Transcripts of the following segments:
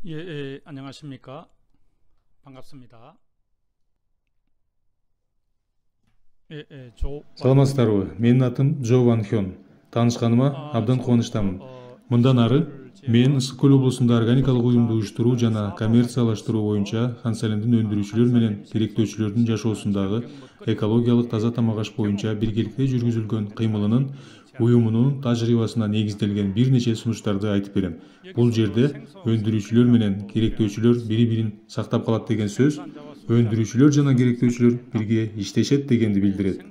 안녕하십니까. 반갑습니다. Саламатсыздарбы? Менин атым Джо Ван Хён. Таанышканыма абдан кубанычтамын. Мындан ары мен Ысык Көл облусунда органикалык уюмду уюштуруу жана коммерциялаштыруу боюнча Хан Салимдин өндүрүүчүлөр менен керектөөчүлөрдүн жашоосундагы экологиялык таза тамак аш боюнча биргеликте жүргүзүлгөн кыймылынын уюмунун тажрыйбасына негизделген бир нече сунуштарды айтып берем. Бул жерде өндүрүүчүлөр менен керектөөчүлөр бири-бирин сактап калат деген сөз өндүрүүчүлөр жана керектөөчүлөр бирге иштешет дегенди билдирет.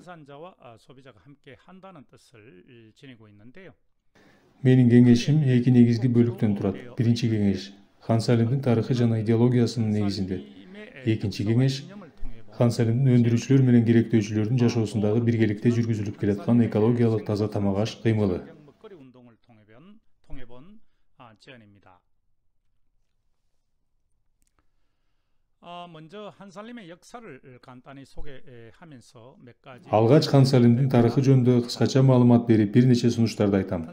Менин кеңешим эки негизги бөлүктөн турат. Биринчи кеңеш Хан Салимдин тарыхы жана идеологиясынын негизинде. Экинчи кеңеш Хан Салимдин өндүрүүчүлөр менен керектөөчүлөрдүн жашоосундагы биргеликте жүргүзүлүп келаткан экологиялык таза тамак аш кыймылы. Алгач Хан Салимдин тарыхы жөнүндө кыскача маалымат берип, бир нече сунуштарды айтам.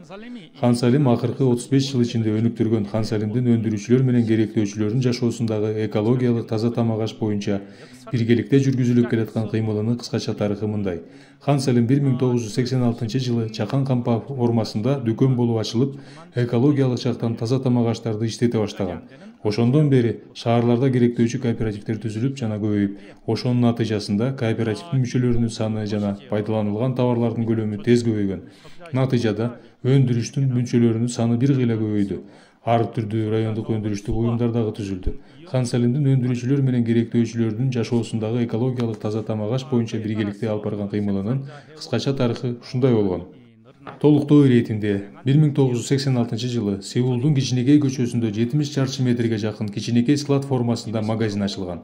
Хан Салим акыркы 35 жыл ичинде өнүктүргөн Хан Салимдин өндүрүүчүлөр менен керектөөчүлөрдүн жашоосундагы экологиялык таза тамак аш боюнча биргеликте жүргүзүлүп келаткан кыймылынын кыскача тарыхы мындай. Хан Салим 1986-жылы Чакан кампа формасында дүкөн болуп ачылып, экологиялык жактан таза тамак аштарды иштете баштаган. Ошондон бери шаарларда керектөөчү кооперативдер түзүлүп жана көбөйүп, ошонун натыйжасында кооперативдин мүчөлөрүнүн саны жана пайдаланылган товарлардын көлөмү тез көбөйгөн. Натыйжада өндүрүштүн мүчөлөрүнүн саны бир кыйла көбөйдү. Ар түрдүү райондук өндүрүштүк уюмдар дагы түзүлдү. Хан Салимдин өндүрүүчүлөр менен керектөөчүлөрдүн жашоосундагы экологиялык таза тамак аш боюнча биргеликте алып барган кыймылынын кыскача тарыхы ушундай болгон. Толуктоо иретинде 1986-жылы Сеулдун Кичинекей көчөсүндө 70 чарчы метрге жакын кичинекей склад формасында магазин ачылган.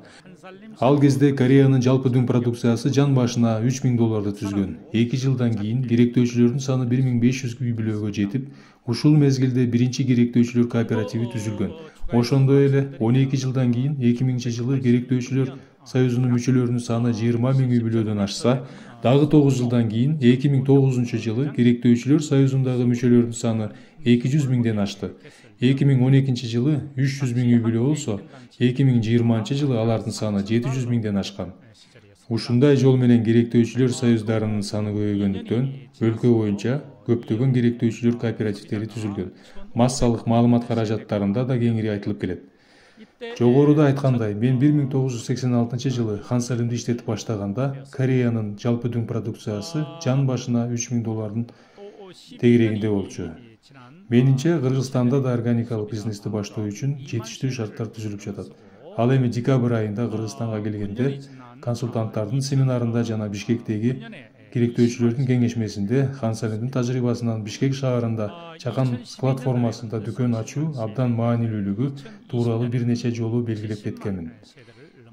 Ал кезде Кореянын жалпы дүң продукциясы жан башына $3000 түзгөн. 2 жылдан кийин керектөөчүлөрдүн саны 1500 үй бүлөгө жетип, ушул мезгилде биринчи керектөөчүлөр кооперативи түзүлгөн. Ошондой эле 12 жылдан кийин 2000-жылы керектөөчүлөр союзунун мүчөлөрүнүн саны 20 000 үй бүлөдөн ашса, дагы 9 жылдан кийин 2009-жылы керектөөчүлөр союзундагы мүчөлөрдүн саны 200 000ден ашты. 2012-жылы 300 000 үй бүлө болсо, 2020-жылы алардын саны 700 000ден ашкан. Ушундай жол менен керектөөчүлөр союздарынын саны көбөйгөндүктөн өлкө боюнча көптөгөн керектөөчүлөр кооперативдери түзүлгөн. Массалык маалымат каражаттарында да кеңири айтылып келет. Жогоруда айткандай, мен 1986-жылы Хан Салимди иштетип баштаганда Кореянын жалпы дүң продукциясы жан башына $3000 тегерегинде болчу. Менимче, Кыргызстанда да органикалык бизнести баштоо үчүн жетиштүү шарттар түзүлүп жатат. Ал эми декабрь айында Кыргызстанга келгенде консультанттардын семинарында жана Бишкектеги керектөөчүлөрдүн кеңешмесинде Хан Салимдин тажрыйбасынан Бишкек шаарында Чакан склад формасында дүкөн ачуу абдан маанилүүлүгү тууралуу бир нече жолу белгилеп кеткенмин.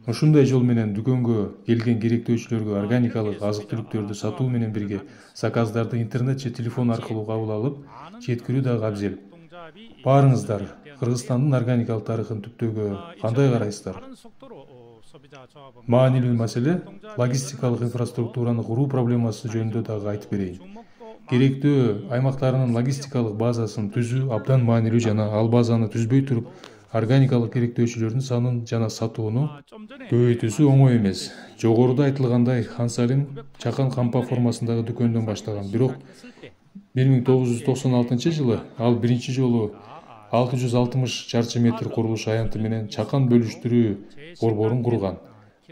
Ушундай жол менен дүкөнгө келген керектөөчүлөргө органикалык азык-түлүктөрдү сатуу менен бирге заказдарды интернет же телефон аркылуу кабыл алып, жеткирүү дагы абзел. Баарыңыздар Кыргызстандын органикалык тарыхын түптөөгө кандай карайсыздар? Маанилүү маселе логистикалык инфраструктураны куруу проблемасы жөнүндө дагы айтып берейин. Керектөө аймактарынын логистикалык базасын түзүү абдан маанилүү жана ал базаны түзбөй туруп, органикалык керектөөчүлөрдүн санын жана сатууну көбөйтүүсү оңой эмес. Жогоруда айтылгандай, Хан Салим Чакан кампа формасындагы дүкөндөн баштаган, бирок 1996-жылы ал биринчи жолу 660 чарчы метр курулуш аянты менен Чакан бөлүштүрүү борборун курган.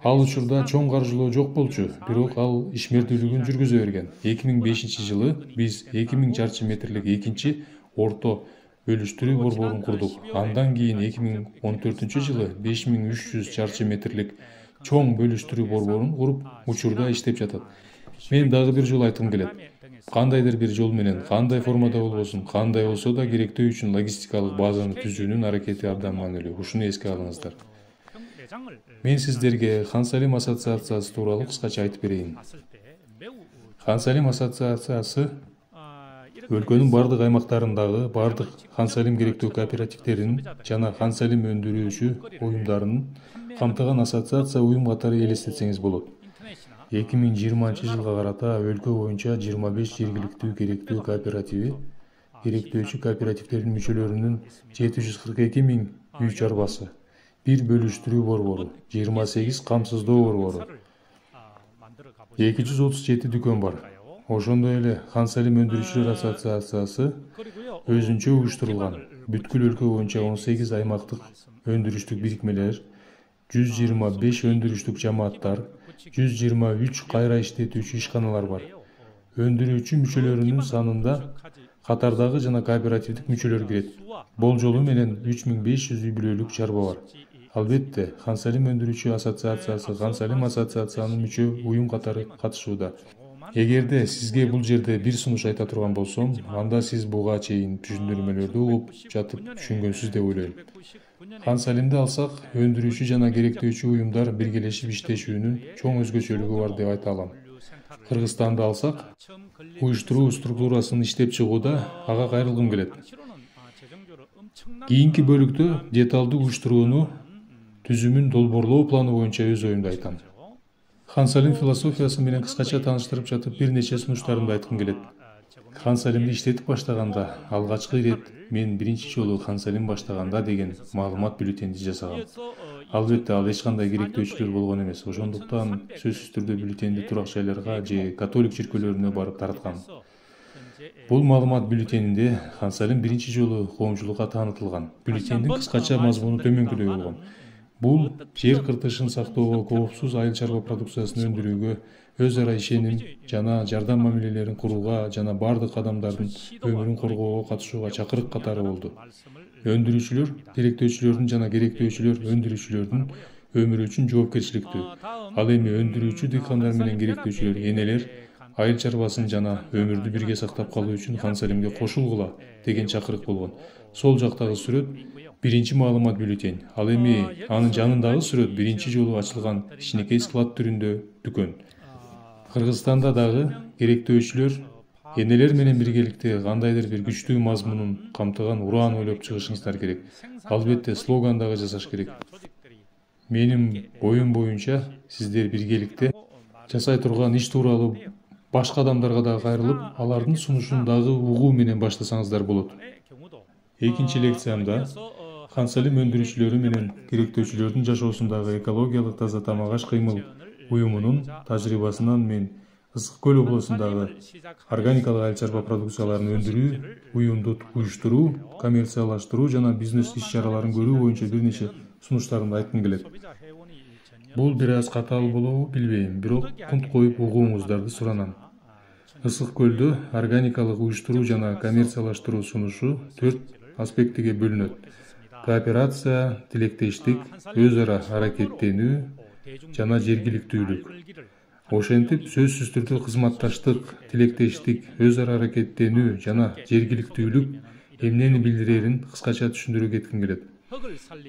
Ал учурда чоң каржылоо жок болчу, бирок ал ишмердүүлүгүн жүргүзө берген. 2005-жылы биз 2000 чарчы метрлик экинчи орто бөлүштүрүү борборун курдук. Андан кийин 2014-жылы 5300 чарчы метрлик чоң бөлүштүрүү борборун куруп, учурда иштеп жатат. Мен дагы бир жолу айткым келет. Кандайдыр бир жол менен, кандай формада болбосун, кандай болсо да керектөө үчүн логистикалык базаны түзүүнүн аракети абдан маанилүү. Ушуну эске алыңыздар. Мен сиздерге Хан Салим ассоциациясы тууралуу кыскача айтып берейин. Хан Салим ассоциациясы өлкөнүн бардык аймактарындагы бардык Хан Салим керектөө кооперативдеринин жана Хан Салим өндүрүүчү уюмдарынын камтыган ассоциация уюм катары элестетсеңиз болот. 2020-жылга карата өлкө боюнча 25 жергиликтүү керектөө кооперативи керектөөчү кооперативдердин мүчөлөрүнүн 742 000 үй чарбасы, 1 бөлүштүрүү борбору, 28 камсыздоо борбору, 237 дүкөн бар. Ошондой эле Хан Салим өндүрүүчүлөр ассоциациясы өзүнчө уюштурулган бүткүл өлкө боюнча 18 аймактык өндүрүштүк бирикмелер, 125 өндүрүштүк жамааттар, 123 кайра иштетүүчү ишканалар бар. Өндүрүүчү мүчөлөрүнүн санында катардагы жана кооперативдик мүчөлөр кирет. Болжолу менен 3500 үй бүлөлүк чарба бар. Албетте, Хан Салим өндүрүүчү ассоциациясы Хан Салим ассоциациянын мүчө уюм катары катышууда. Эгерде сизге бул жерде бир сунуш айта турган болсом, анда сиз буга чейин түшүндүрмөлөрдү угуп жатып түшүнгөнсүз деп ойлойм. Хан Салимди алсак, өндүрүүчү жана керектөөчү уюмдар биргелешип иштешүүнүн чоң өзгөчөлүгү бар деп айта алам. Кыргызстанды алсак, уюштуруу структурасын иштеп чыгууда ага кайрылгым келет. Кийинки бөлүктө деталдуу уюштурууну түзүмүн долбоорлоо планы боюнча өз оюмду айтам. Хан Салим философиясы менен кыскача тааныштырып жатып бир нече сунуштарымды айткым келет. Хан Салимди иштетип баштаганда, алгачкы ирет мен биринчи жолу Хан Салим баштаганда деген маалымат бюллетенди жасагам. Албетте, ал эч кандай керектөөчүлөр болгон эмес. Ошондуктан сөзсүз түрдө бюллетенди турак жайларга же католик чиркөөлөрүнө барып тараткам. Бул маалымат бюллетенинде Хан Салим биринчи жолу коомчулукка таанытылган. Бюллетендин кыскача мазмуну төмөнкүдөй болгон. Бул жер кыртышын сактоого, коопсуз айыл чарба продукциясын өндүрүүгө, өз ара ишеним жана жардам мамилелерин курууга жана бардык адамдардын өмүрүн коргоого катышууга чакырык катары болду. Өндүрүүчүлөр керектөөчүлөрдүн жана керектөөчүлөр өндүрүүчүлөрдүн өмүрү үчүн жоопкерчиликтүү. Ал эми өндүрүүчү дыйкандар менен керектөөчүлөр энелер айыл чарбасын жана өмүрдү бирге сактап калуу үчүн Хан Салимге кошулгула деген чакырык болгон. Сол жактагы сүрөт биринчи маалымат бюллетень. Ал эми анын жанындагы сүрөт биринчи жолу ачылган кичинекей склад түрүндө дүкөн. Кыргызстанда дагы керектөөчүлөр энелер менен биргеликте кандайдыр бир күчтүү мазмунун камтыган ураан ойлоп чыгышыңыздар керек. Албетте, слоган дагы жасаш керек. Менин оюм боюнча сиздер биргеликте жасай турган иш тууралуу башка адамдарга дагы кайрылып, алардын сунушун дагы угуу менен баштасаңыздар болот. Экинчи лекциямда Хан Салим өндүрүүчүлөрү менен керектөөчүлөрдүн жашоосундагы экологиялык таза тамак-аш кыймыл уюмунун тажрыйбасынан мен Ысык көл облусундагы органикалык айыл чарба продукцияларын өндүрүү, уюмду уюштуруу, коммерциялаштыруу жана бизнес иш-чараларын көрүү боюнча бир нече сунуштарымды айткым келет. Бул бир аз катаал болобу билбейм, бирок кунт коюп угууңуздарды суранам. Ысык көлдө органикалык уюштуруу жана коммерциялаштыруу сунушу 4 аспектиге бөлүнөт. Кооперация, тилектештик, өз ара аракеттенүү жана жергиликтүүлүк. Ошентип, сөзсүз түрдө кызматташтык, тилектештик, өз ара аракеттенүү жана жергиликтүүлүк эмнени билдирерин кыскача түшүндүрө кетким келет.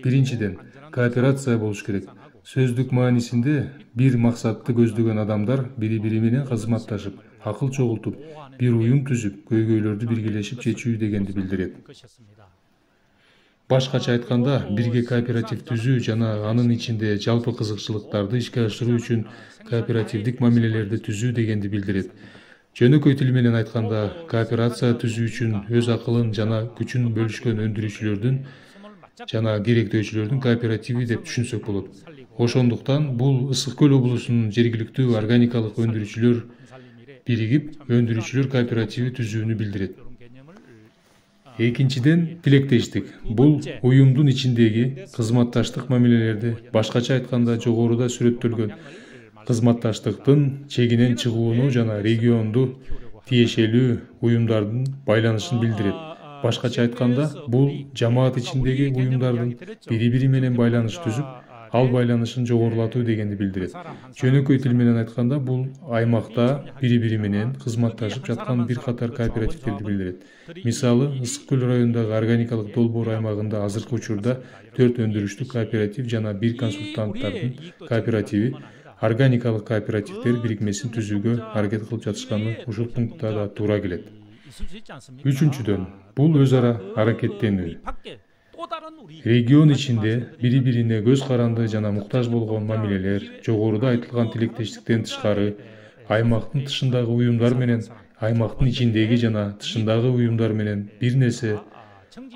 Биринчиден, кооперация болуш керек. Сөздүк маанисинде бир максатты көздөгөн адамдар бири-бири менен кызматташып, акыл чогултуп, бир уюм түзүп, көйгөйлөрдү биргелешип чечүү дегенди билдирет. Башкача айтканда, бирге кооператив түзүү жана анын ичинде жалпы кызыкчылыктарды ишке ашыруу үчүн кооперативдик мамилелерди түзүү дегенди билдирет. Жөнөкөй тил менен айтканда, кооперация түзүү үчүн өз акылын жана күчүн бөлүшкөн өндүрүүчүлөрдүн жана керектөөчүлөрдүн кооперативи деп түшүнсөк болот. Ошондуктан бул Ысык көл облусунун жергиликтүү органикалык өндүрүүчүлөр биригип, өндүрүүчүлөр кооперативи түзүүнү билдирет. Экинчиден, тилектештик. Бул уюмдун ичиндеги кызматташтык мамилелерди, башкача айтканда жогоруда сүрөттөлгөн кызматташтыктын чегинен чыгууну жана регионду тиешелүү уюмдардын байланышын билдирет. Башкача айтканда, бул жамаат ичиндеги уюмдардын бири-бири менен байланыш түзүп, ал байланышын жогорулатуу дегенди билдирет. Жөнөкөй тил менен айтканда, бул аймакта бири-бири менен кызматташып жаткан бир катар кооперативдерди билдирет. Мисалы, Ысык көл районундагы органикалык долбоор аймагында азыркы учурда 4 өндүрүштүк кооператив жана 1 консультанттардын кооперативи, органикалык кооперативдер бирикмесин түзүүгө аракет кылып жатышканы ушул пунктта да туура келет. Үчүнчүдөн, бул өз ара аракеттенүү. Регион ичинде бири-бирине көз каранды жана муктаж болгон мамилелер, жогоруда айтылган тилектештиктен тышкары, аймактын тышындагы уюмдар менен, аймактын ичиндеги жана тышындагы уюмдар менен бир нерсе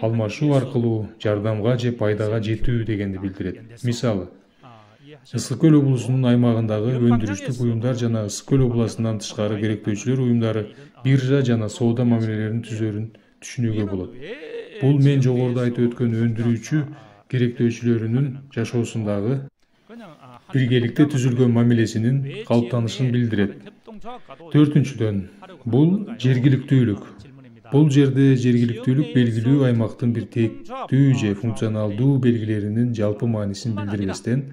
алмашуу аркылуу жардамга же пайдага жетүү дегенди билдирет. Мисалы, Ысык көл облусунун аймагындагы өндүрүштүк уюмдар жана Ысык көл областынан тышкары керектөөчүлөр уюмдары биржа жана соода мамилелерин түзөрүн түшүнүүгө болот. Бул мен жогоруда айтып өткөн өндүрүүчү керектөөчүлөрүнүн жашоосундагы биргеликте түзүлгөн мамилесинин калыптанышын билдирет. Төртүнчүдөн, бул жергиликтүүлүк. Бул жерде жергиликтүүлүк белгилүү аймактын бир тектүү же функционалдуу белгилеринин жалпы маанисин билдирбестен,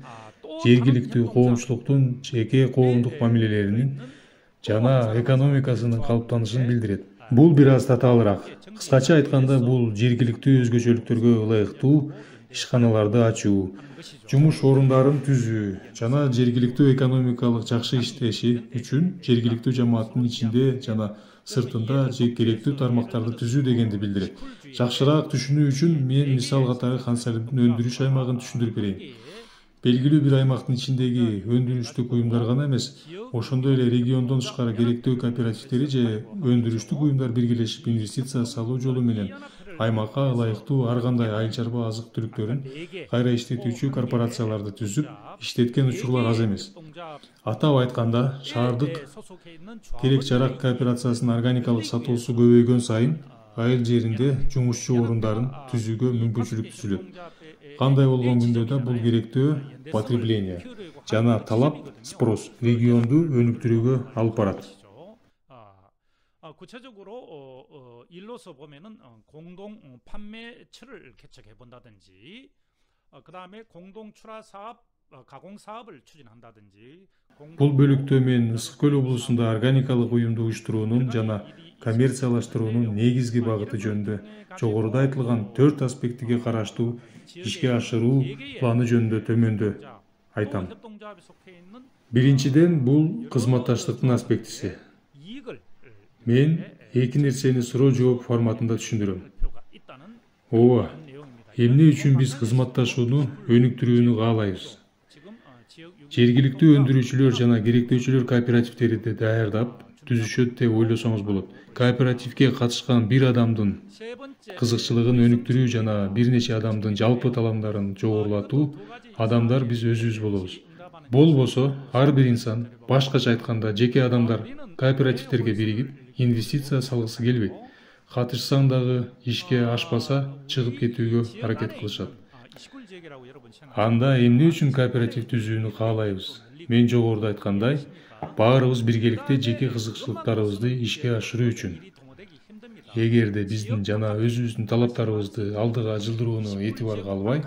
жергиликтүү коомчулуктун жеке коомдук мамилелеринин жана экономикасынын калыптанышын билдирет. Бул бир аз татаалыраак. Кыскача айтканда, бул жергиликтүү өзгөчөлүктөргө ылайыктуу ишканаларды ачуу, жумуш орундарын түзүү жана жергиликтүү экономикалык жакшы иштеши үчүн жергиликтүү жамааттын ичинде жана сыртында керектүү тармактарды түзүү дегенди билдирет. Жакшыраак түшүнүү үчүн мен мисал катары Хан Салимдин өндүрүш аймагын түшүндүрүп берейин. Белгилүү бир аймактын ичиндеги өндүрүштүк уюмдар гана эмес, ошондой эле региондон тышкары керектөө кооперативдери же өндүрүштүк уюмдар биргелешип инвестиция салуу жолу менен аймакка ылайыктуу ар кандай айыл чарба азык түлүктөрүн кайра иштетүүчү корпорацияларды түзүп иштеткен учурлар аз эмес. Атап айтканда, шаардык керек жарак кооперациясынын органикалык сатуусу көбөйгөн сайын айыл жеринде жумушчу орундарын түзүүгө мүмкүнчүлүк түзүлөт. Кандай болгон күндө да бул керектөө потребление жана талап спрос регионду өнүктүрүүгө алып барат. 구체적으로 일로서 보면은 공동 판매처를 개척해 본다든지, 그다음에 공동 출하 사업, 가공 사업을 추진한다든지. Бул бөлүктө мен Ысык көл облусунда органикалык уюмду уюштуруунун жана коммерциялаштыруунун негизги багыты жөнүндө жогоруда айтылган 4 аспектиге караштуу ишке ашыруу планы жөнүндө төмөндө айтам. Биринчиден, бул кызматташтыктын аспектиси. Мен эки нерсени суроо жооп форматында түшүндүрөм. Ооба, эмне үчүн биз кызматташууну өнүктүрүүнү каалайбыз? Жергиликтүү өндүрүүчүлөр жана керектөөчүлөр кооперативдерди даярдап түзүшөт деп ойлосоңуз болот. Кооперативге катышкан бир адамдын кызыкчылыгын өнүктүрүү жана бир нече адамдын жалпы таламдарын жогорулатуу адамдар биз өзүбүз болобуз. Болбосо, ар бир инсан, башкача айтканда жеке адамдар кооперативдерге биригип инвестиция салгысы келбейт. Катышсаң дагы ишке ашпаса чыгып кетүүгө аракет кылышат. Анда эмне үчүн кооператив түзүүнү каалайбыз? Мен жогоруда айткандай, баарыбыз биргеликте жеке кызыкчылыктарыбызды ишке ашыруу үчүн. Эгерде биздин жана өзүбүздүн талаптарыбызды алдыга жылдырууну этибарга албай,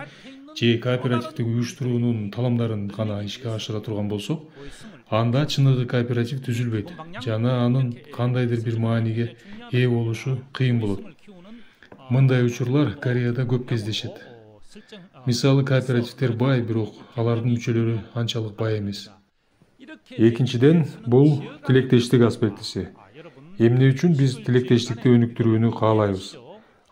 же кооперативдик уюштуруунун таламдарын гана ишке ашыра турган болсок, анда чыныгы кооператив түзүлбөйт жана анын кандайдыр бир мааниге ээ болушу кыйын болот. Мындай учурлар Кореяда көп кездешет. Мисалы, кооперативдер бай, бирок алардын мүчөлөрү анчалык бай эмес. Экинчиден, бул тилектештик аспектиси. Эмне үчүн биз тилектештикти өнүктүрүүнү каалайбыз?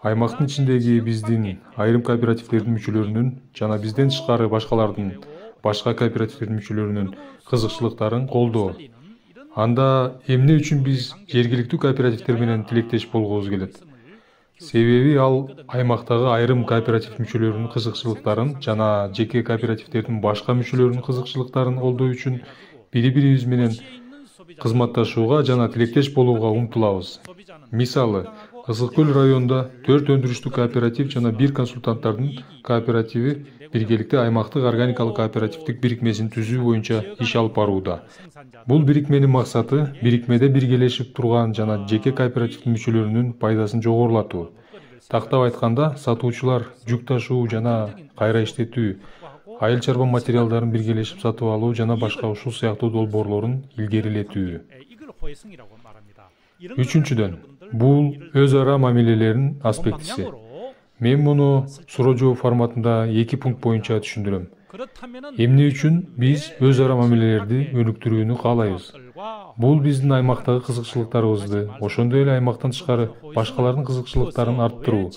Аймактын ичиндеги биздин айрым кооперативдердин мүчөлөрүнүн жана бизден тышкары башка кооперативдердин мүчөлөрүнүн кызыкчылыктарын колдоо. Анда эмне үчүн биз жергиликтүү кооперативдер менен тилектеш болгубуз келет? Себеби ал аймактагы айрым кооператив мүчөлөрүнүн кызыкчылыктарын жана жеке кооперативдердин башка мүчөлөрүнүн кызыкчылыктарын колдоо үчүн бири-бирибиз менен кызматташууга жана тилектеш болууга умтулабыз. Мисалы, Ысык көл районунда 4 өндүрүштүк кооператив жана 1 консультанттардын кооперативи биргеликте аймактык органикалык кооперативдик бирикмесин түзүү боюнча иш алып барууда. Бул бирикменин максаты бирикмеде биргелешип турган жана жеке кооперативдин мүчөлөрүнүн пайдасын жогорулатуу. Тактап айтканда, сатуучулар жүк ташуу жана кайра иштетүү, айыл чарба материалдарын биргелешип сатып алуу жана башка ушул сыяктуу долбоорлорун илгерилетүү. Үчүнчүдөн, бул өз ара мамилелеринин аспектиси. Мен муну суроо жооп форматында 2 пункт боюнча түшүндүрөм. Эмне үчүн биз өз ара мамилелерди өнүктүрүүнү каалайбыз? Бул биздин аймактагы кызыкчылыктарыбызды, ошондой эле аймактан тышкары башкалардын кызыкчылыктарын арттыруу.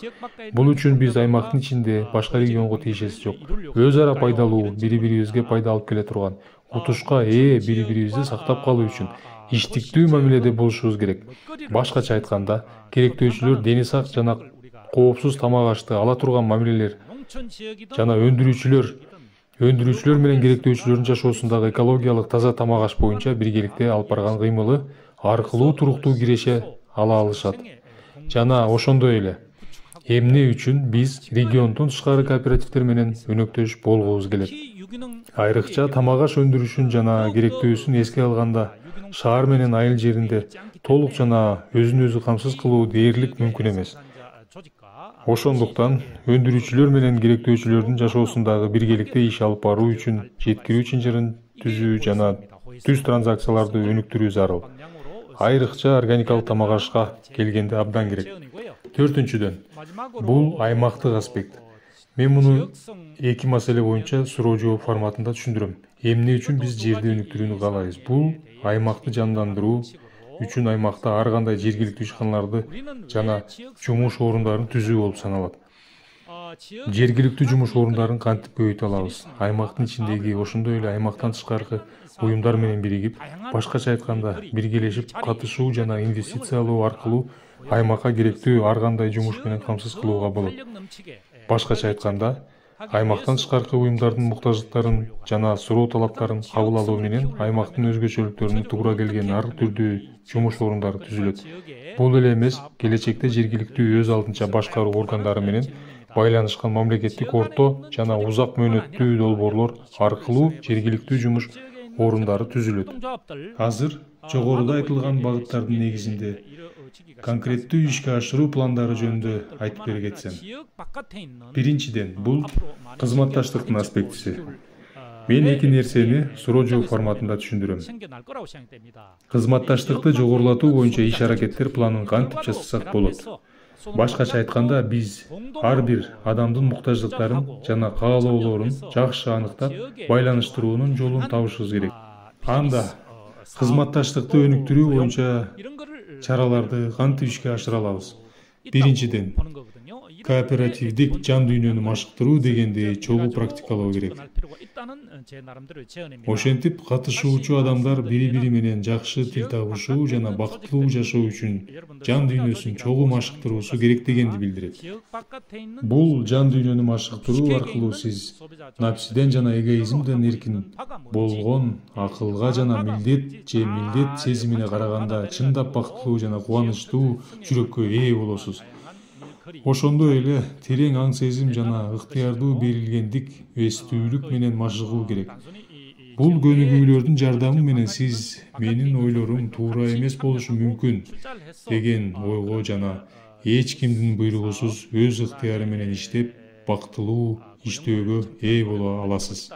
Бул үчүн биз аймактын ичинде башка регионго тиешеси жок, өз ара пайдалуу, бири-бирибизге пайда алып келе турган, утушка ээ бири-бирибизди сактап калуу үчүн иштиктүү мамиледе болушубуз керек. Башкача айтканда, керектөөчүлөр дени сак жана коопсуз тамак ашты ала турган мамилелер жана өндүрүүчүлөр менен керектөөчүлөрдүн жашоосундагы экологиялык таза тамак аш боюнча биргеликте алып барган кыймылы аркылуу туруктуу киреше ала алышат. Жана ошондой эле эмне үчүн биз региондон тышкары кооперативдер менен өнөктөш болгубуз келет. Айрыкча тамак аш өндүрүшүн жана керектөөсүн эске алганда шаар менен айыл жеринде толук жана өзүн өзү камсыз кылуу дээрлик мүмкүн эмес. Ошондуктан өндүрүүчүлөр менен керектөөчүлөрдүн жашоосундагы биргеликте иш алып баруу үчүн жеткирүү чынжырын түзүү жана түз транзакцияларды өнүктүрүү зарыл. Айрыкча органикалык тамак ашка келгенде абдан керек. Төртүнчүдөн, бул аймактык аспект. Мен муну эки маселе боюнча суроо жооп форматында түшүндүрөм. Эмне үчүн биз жерди өнүктүрүүнү каалайбыз? Бул аймакты жандандыруу үчүн аймакта ар кандай жергиликтүү ишканаларды жана жумуш орундарын түзүү болуп саналат. Жергиликтүү жумуш орундарын кантип көбөйтө алабыз? Аймактын ичиндеги ошондой эле аймактан тышкаркы уюмдар менен биригип, башкача айтканда биргелешип катышуу жана инвестициялоо аркылуу аймакка керектүү ар кандай жумуш менен камсыз кылууга болот. Башкача айтканда, аймактан тышкаркы уюмдардын муктаждыктарын жана суроо талаптарын кабыл алуу менен аймактын өзгөчөлүктөрүнө туура келген ар түрдүү жумуш орундары түзүлөт. Бул эле эмес, келечекте жергиликтүү өз алдынча башкаруу органдары менен байланышкан мамлекеттик орто жана узак мөөнөттүү долбоорлор аркылуу жергиликтүү жумуш орундары түзүлөт. Азыр жогоруда айтылган багыттардын негизинде конкреттүү ишке ашыруу пландары жөнүндө айтып бере кетсем. Биринчиден, бул кызматташтыктын аспектиси. Мен эки нерсени суроо жооп форматында түшүндүрөм. Кызматташтыкты жогорулатуу боюнча иш-аракеттер планын кантип жасасак болот? Башкача айтканда, биз ар бир адамдын муктаждыктарын жана каалоолорун жакшы аныктап, байланыштыруунун жолун табышыбыз керек. Анда кызматташтыкты өнүктүрүү боюнча чараларды кантип ишке ашыра алабыз? Биринчиден, кооперативдик жан дүйнөнү машыктыруу дегенди чогуу практикалоо керек. Ошентип катышуучу адамдар бири-бири менен жакшы тил табышуу жана бактылуу жашоо үчүн жан дүйнөсүн чогуу машыктыруусу керек дегенди билдирет. Бул жан дүйнөнү машыктыруу аркылуу сиз напсиден жана эгоизмден эркин болгон акылга жана милдет сезимине караганда чындап бактылуу жана кубанычтуу жүрөккө ээ болосуз. Ошондой эле терең аң сезим жана ыктыярдуу берилгендик, эстүүлүк менен машыгуу керек. Бул көнүгүүлөрдүн жардамы менен сиз менин ойлорум туура эмес болушу мүмкүн деген ойго жана эч кимдин буйругусуз өз ыктыяры менен иштеп, бактылуу иштөөгө ээ боло аласыз.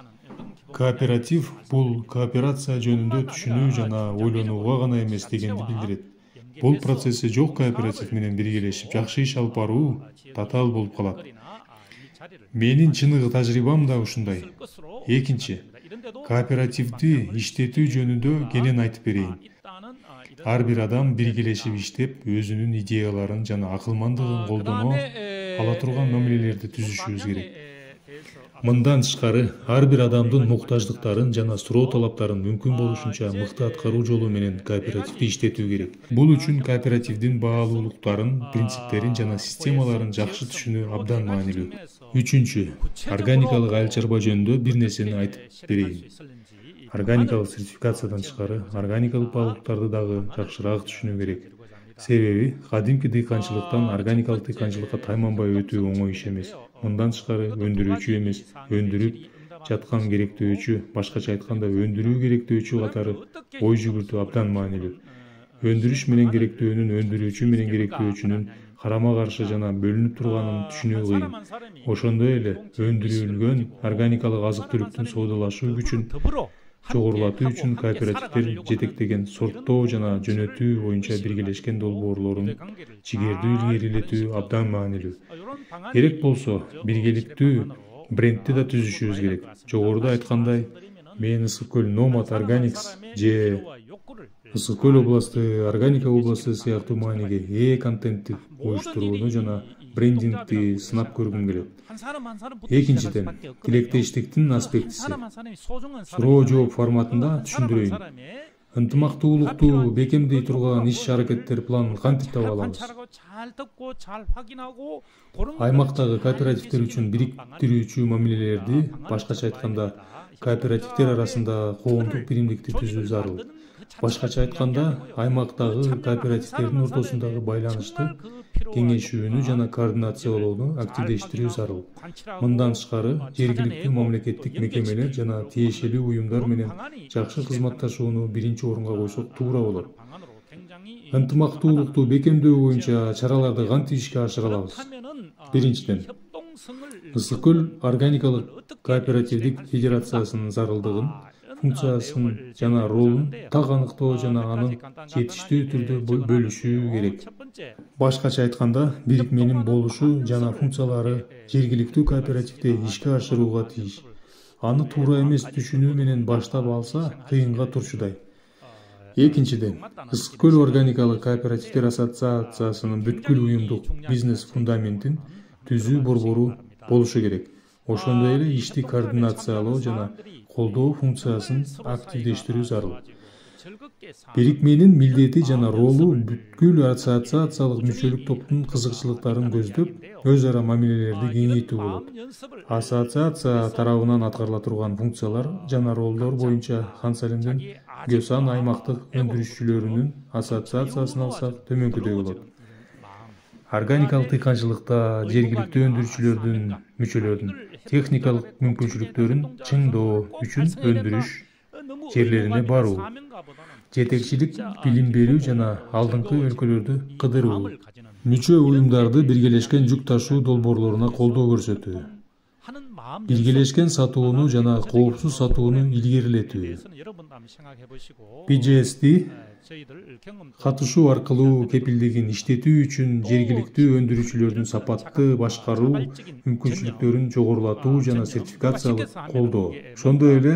Кооператив бул кооперация жөнүндө түшүнүү жана ойлонууга гана эмес дегенди билдирет. Бул процесси жок кооператив менен биргелешип жакшы иш алып баруу татаал болуп калат. Менин чыныгы тажрыйбам да ушундай. Экинчи, кооперативди иштетүү жөнүндө кенен айтып берейин. Ар бир адам биргелешип иштеп, өзүнүн идеяларын жана акылмандыгын колдоно ала турган мамилелерди түзүшүбүз керек. Мындан тышкары, ар бир адамдын муктаждыктарын жана суроо талаптарын мүмкүн болушунча мыкты аткаруу жолу менен кооперативди иштетүү керек. Бул үчүн кооперативдин баалуулуктарын, принциптерин жана системаларын жакшы түшүнүү абдан маанилүү. Үчүнчү, органикалык айыл чарба жөнүндө бир нерсени айтып берейин. Органикалык сертификациядан тышкары, органикалык баалуулуктарды дагы жакшыраак түшүнүү керек. Себеби, кадимки дыйканчылыктан органикалык дыйканчылыкка тайманбай өтүү оңой иш эмес. Мындан тышкары өндүрүүчү эмес, өндүрүп жаткан керектөөчү, башкача айтканда өндүрүү керектөөчү катары ой жүгүртүү абдан маанилүү. Өндүрүш менен керектөөнүн, өндүрүүчү менен керектөөчүнүн карама каршы жана бөлүнүп турганын түшүнүү кыйын. Ошондой эле өндүрүлгөн органикалык азык-түлүктүн соодалашуу күчүн жогорулатуу үчүн кооперативдер жетектеген сорттоо жана жөнөтүү боюнча биргелешкен долбоорлорун чигердүү илгерилетүү абдан маанилүү. Керек болсо, биргеликтүү брендти да түзүшүбүз керек. Жогоруда айткандай, мен Ысык көл Nomad Organics же Ысык көл областы Органика областы сыяктуу мааниге ээ контентти уюштурууну жана брендингди сынап көргүм келет. Экинчиден, тилектештиктин аспектиси. Суроо жооп форматында түшүндүрөйүн. ынтымактуулукту бекемдей турган иш-аракеттер планын кантип таба алабыз? Аймактагы кооперативдер үчүн бириктирүүчү мамилелерди, башкача айтканда, кооперативдер арасында коомдук биримдикти түзүү зарыл. Башкача айтканда, аймактагы кооперативдердин ортосундагы байланышты кеңешүүнү жана координациялоону активдештирүү зарыл. Мындан тышкары, жергиликтүү мамлекеттик мекемелер жана тиешелүү уюмдар менен жакшы кызматташууну биринчи орунга койсок туура болот. Ынтымактуулукту бекемдөө боюнча чараларды кантип ишке ашыра алабыз? Биринчиден, Ысык көл органикалык кооперативдик федерациясынын зарылдыгын, функциясын жана ролун так аныктоо жана аны жетиштүү түрдө бөлүшүү керек. Башкача айтканда, бирикменин болушу жана функциялары жергиликтүү кооперативде ишке ашырууга тийиш. Аны туура эмес түшүнүү менен баштап алса, кыйынга турчудай. Экинчиден, Ысык көл органикалык кооперативдер ассоциациясынын бүткүл уюмдук бизнес фундаментин түзүү борбору болушу керек. Ошондой эле ишти координациялоо жана колдоо функциясын активдештирүү зарыл. Бирикменин милдети жана ролу бүткүл ассоциациялык мүчөлүк топтун кызыкчылыктарын көздөп, өз ара мамилелерди кеңейтүү болот. Ассоциация тарабынан аткарыла турган функциялар жана ролдор боюнча Хан Салимдин Гөсан аймактык өндүрүшчүлөрүнүн ассоциациясын алсак төмөнкүдөй болот. Органикалык дыйканчылыкта жергиликтүү өндүрүшчүлөрдүн мүчөлөрүнүн техникалык мүмкүнчүлүктөрүн чыңдоо үчүн өндүрүш жерлерине баруу, жетекчилик билим берүү жана алдыңкы өлкөлөрдү кыдыруу, мүчө уюмдарды биргелешкен жүк ташуу долбоорлоруна колдоо көрсөтүү, биргелешкен сатууну жана коопсуз сатууну илгерилетүү, BGS'ди катышуу аркылуу кепилдигин иштетүү үчүн жергиликтүү өндүрүүчүлөрдүн сапатты башкаруу мүмкүнчүлүктөрүн жогорулатуу жана сертификациялык колдоо. Ошондой эле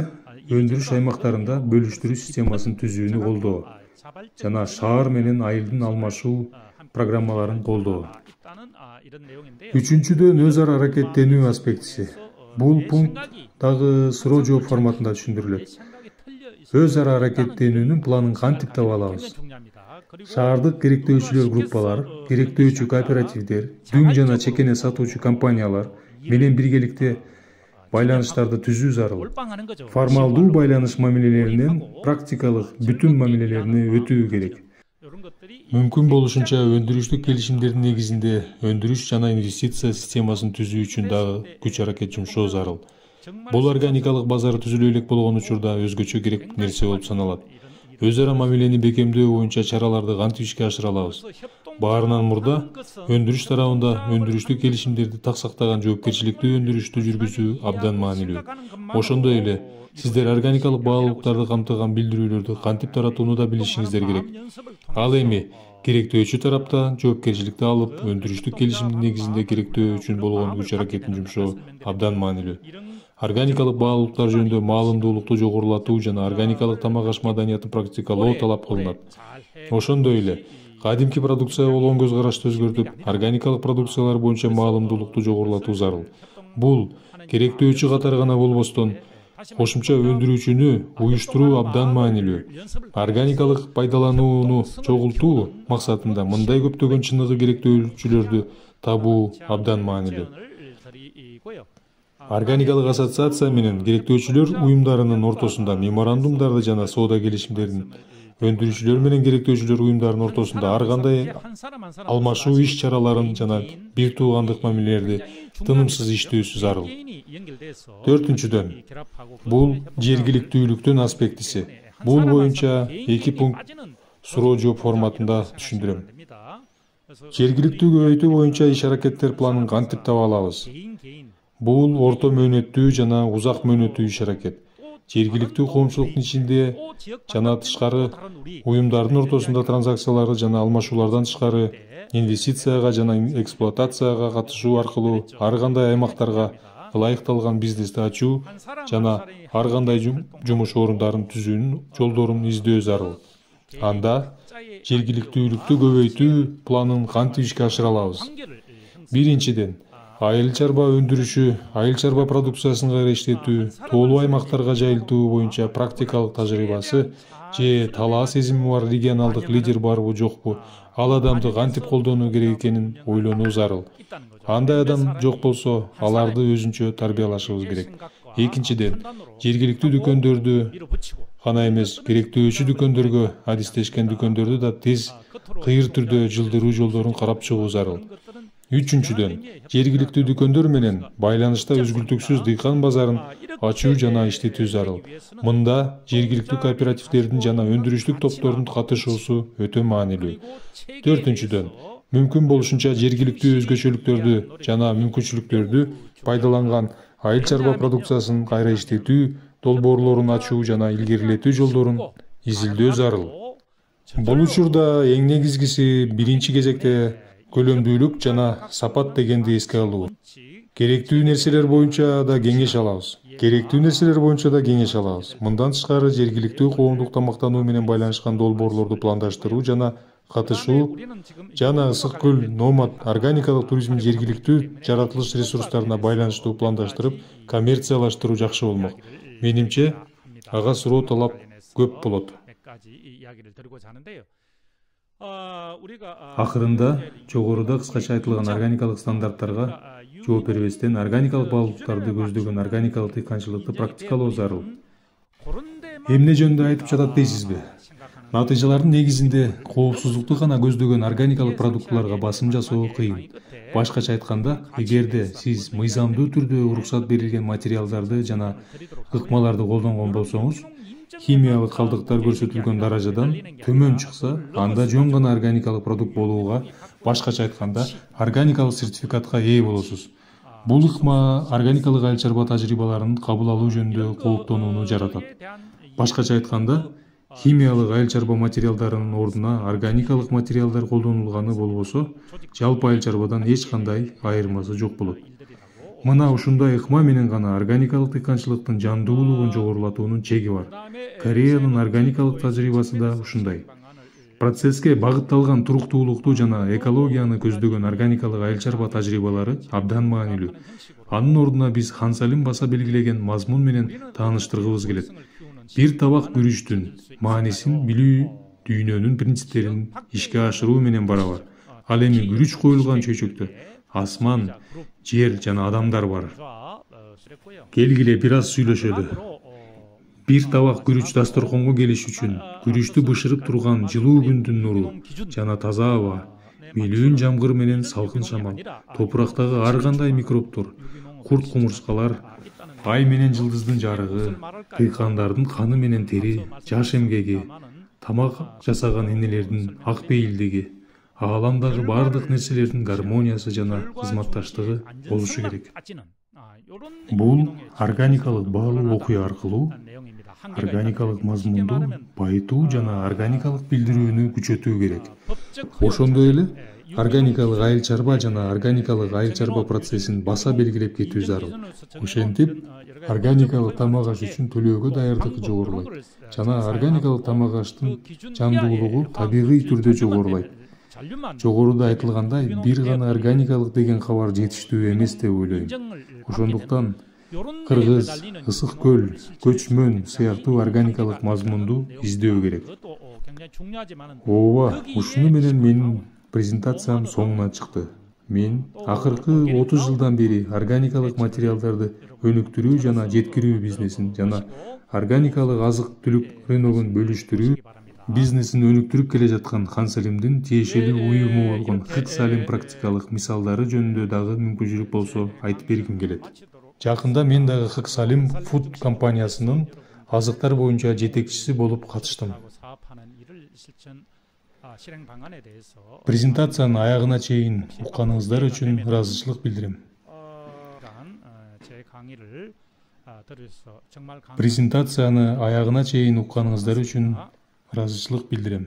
өндүрүш аймактарында бөлүштүрүү системасын түзүүнү колдоо жана шаар менен айылдын алмашуу программаларын колдоо. Үчүнчүдөн, өз ара аракеттенүү аспектиси. Бул пункт дагы суроо жооп форматында түшүндүрүлөт. Өз ара аракеттенүүнүн планын кантип таба алабыз? Шаардык керектөөчүлөр группалар, керектөөчү кооперативдер, дүң жана чекене сатуучу компаниялар менен биргеликте байланыштарды түзүү зарыл. Формалдуу байланыш мамилелеринен практикалык бүтүн мамилелерине өтүү керек. Мүмкүн болушунча өндүрүштүк келишимдердин негизинде өндүрүш жана инвестиция системасын түзүү үчүн дагы күч аракет жумшоо зарыл. Бул органикалык базары түзүлө элек болгон учурда өзгөчө керек нерсе болуп саналат. Өз ара мамилени бекемдөө боюнча чараларды кантип ишке ашыра алабыз? Баарынан мурда өндүрүш тарабында өндүрүштүк келишимдерди так сактаган жоопкерчиликтүү өндүрүштү жүргүзүү абдан маанилүү. Ошондой эле сиздер органикалык баалуулуктарды камтыган билдирүүлөрдү кантип таратууну да билишиңиздер керек. Ал эми керектөөчү тараптан жоопкерчиликти алып, өндүрүштүк келишимдин негизинде керектөө үчүн болгон күч аракетин жумшоо абдан маанилүү. Органикалык баалуулуктар жөнүндө маалымдуулукту жогорулатуу жана органикалык тамак аш маданиятын практикалоо талап кылынат. Ошондой эле кадимки продукцияга болгон көз карашты өзгөртүп, органикалык продукциялар боюнча маалымдуулукту жогорулатуу зарыл. Бул керектөөчү катары гана болбостон, кошумча өндүрүүчүнү уюштуруу абдан маанилүү. Органикалык пайдаланууну чогултуу максатында мындай көптөгөн чыныгы керектөөчүлөрдү табуу абдан маанилүү. Органикалык ассоциация менен керектөөчүлөр уюмдарынын ортосунда меморандумдарды жана соода келишимдерин, өндүрүүчүлөр менен керектөөчүлөр уюмдарынын ортосунда ар кандай алмашуу иш-чараларын жана бир туугандык мамилелерди тынымсыз иштөөсү зарыл. Төртүнчүдөн, бул жергиликтүүлүктүн аспектиси. Бул боюнча 2 пункт суроо жооп форматында түшүндүрөм. Жергиликтүү көбөйтүү боюнча иш-аракеттер планын кантип таба алабыз? Бул орто мөөнөттүү жана узак мөөнөттүү иш-аракет. Жергиликтүү коомчулуктун ичинде жана тышкары уюмдардын ортосунда транзакцияларды жана алмашуулардан тышкары инвестицияга жана эксплуатацияга катышуу аркылуу ар кандай аймактарга ылайыкталган бизнести ачуу жана ар кандай жумуш орундарын түзүүнүн жолдорун издөө зарыл. Анда жергиликтүүлүктү көбөйтүү планын кантип ишке ашыра алабыз? Биринчиден, айыл чарба өндүрүшү, айыл чарба продукциясын кайра иштетүү, тоолуу аймактарга жайылтуу боюнча практикалык тажрыйбасы же талаа сезими бар регионалдык лидер барбы жокпу, ал адамды кантип колдонуу керек экенин ойлонуу зарыл. Андай адам жок болсо, аларды өзүнчө тарбиялашыбыз керек. Экинчиден, жергиликтүү дүкөндөрдү гана эмес, керектөөчү дүкөндөргө, адистешкен дүкөндөрдү да тез, кыйыр түрдө жылдыруу жолдорун карап чыгуу зарыл. Үчүнчүдөн, жергиликтүү дүкөндөр менен байланышта үзгүлтүксүз дыйкан базарын ачуу жана иштетүү зарыл. Мында жергиликтүү кооперативдердин жана өндүрүштүк топтордун катышуусу өтө маанилүү. Төртүнчүдөн, мүмкүн болушунча жергиликтүү өзгөчөлүктөрдү жана мүмкүнчүлүктөрдү пайдаланган айыл чарба продукциясын кайра иштетүү долбоорлорун ачуу жана илгерилетүү жолдорун изилдөө зарыл. Бул учурда эң негизгиси биринчи кезекте көлөмдүүлүк жана сапат дегенди эске алуу. Керектүү нерселер боюнча да кеңеш алабыз. Мындан тышкары жергиликтүү коомдук тамактануу менен байланышкан долбоорлорду пландаштыруу жана катышуу жана Ысык көл номад органикалык туризмин жергиликтүү жаратылыш ресурстарына байланыштуу пландаштырып, коммерциялаштыруу жакшы болмок. Менимче, ага суроо талап көп болот. Акырында жогоруда кыскача айтылган органикалык стандарттарга жооп бербестен органикалык баалуулуктарды көздөгөн органикалык дыйканчылыкты практикалоо зарыл. Эмне жөнүндө айтып жатат дейсизби? Натыйжалардын негизинде коопсуздукту гана көздөгөн органикалык продуктыларга басым жасоо кыйын. Башкача айтканда, эгерде сиз мыйзамдуу түрдө уруксат берилген материалдарды жана ыкмаларды колдонгон болсоңуз, химиялык калдыктар көрсөтүлгөн даражадан төмөн чыкса, анда жөн гана органикалык продукт болууга, башкача айтканда, органикалык сертификатка ээ болосуз. Бул ыкма органикалык айыл чарба тажрыйбаларын кабыл алуу жөнүндө кооптонууну жаратат. Башкача айтканда, химиялык айыл чарба материалдарынын ордуна органикалык материалдар колдонулганы болбосо, жалпы айыл чарбадан эч кандай айырмасы жок болот. Мына ушундай ыкма менен гана органикалык дыйканчылыктын жандуулугун жогорулатуунун чеги бар. Кореянын органикалык тажрыйбасы да ушундай. Процесске багытталган туруктуулукту жана экологияны көздөгөн органикалык айыл чарба тажрыйбалары абдан маанилүү. Анын ордуна биз Хан Салим баса белгилеген мазмун менен тааныштыргыбыз келет. Бир табак күрүчтүн маанисин билүү дүйнөнүн принциптерин ишке ашыруу менен барабар. Ал эми күрүч коюлган чөйчөктө асман, жер жана адамдар бар. Келгиле бир аз сүйлөшөлү. Бир табак күрүч дасторконго келиш үчүн күрүчтү бышырып турган жылуу күндүн нуру жана таза аба, милүүн жамгыр менен салкын шамал, топурактагы ар кандай микробтор, курт кумурскалар, ай менен жылдыздын жарыгы, дыйкандардын каны менен тери, жаш эмгеги, тамак жасаган энелердин ак бейилдиги, ааламдагы бардык нерселердин гармониясы жана кызматташтыгы болушу керек. Бул органикалык баалуу окуя аркылуу органикалык мазмунду байытуу жана органикалык билдирүүнү күчөтүү керек. Ошондой эле органикалык айыл чарба жана органикалык айыл чарба процессин баса белгилеп кетүү зарыл. Ошентип, органикалык тамак аш үчүн төлөөгө даярдык жогорулайт жана органикалык тамак аштын жандуулугу табигый түрдө жогорулайт. Жогоруда айтылгандай, бир гана органикалык деген кабар жетиштүү эмес деп ойлойм. Ошондуктан кыргыз, ысык көл, көчмөн сыяктуу органикалык мазмунду издөө керек. Ооба, ушуну менен менин презентациям соңуна чыкты. Мен акыркы 30 жылдан бери органикалык материалдарды өнүктүрүү жана жеткирүү бизнесин жана органикалык азык-түлүк рыногун бөлүштүрүү бизнесин өнүктүрүп келе жаткан Хан Салимдин тиешелүү уюму болгон Хык Салим практикалык мисалдары жөнүндө дагы мүмкүнчүлүк болсо айтып бергим келет. Жакында мен дагы Хык Салим Food компаниясынын азыктар боюнча жетекчиси болуп катыштым. Презентациянын аягына чейин укканыңыздар үчүн ыраазычылык билдирем. Презентацияны аягына чейин укканыңыздар үчүн ыраазычылык билдирем.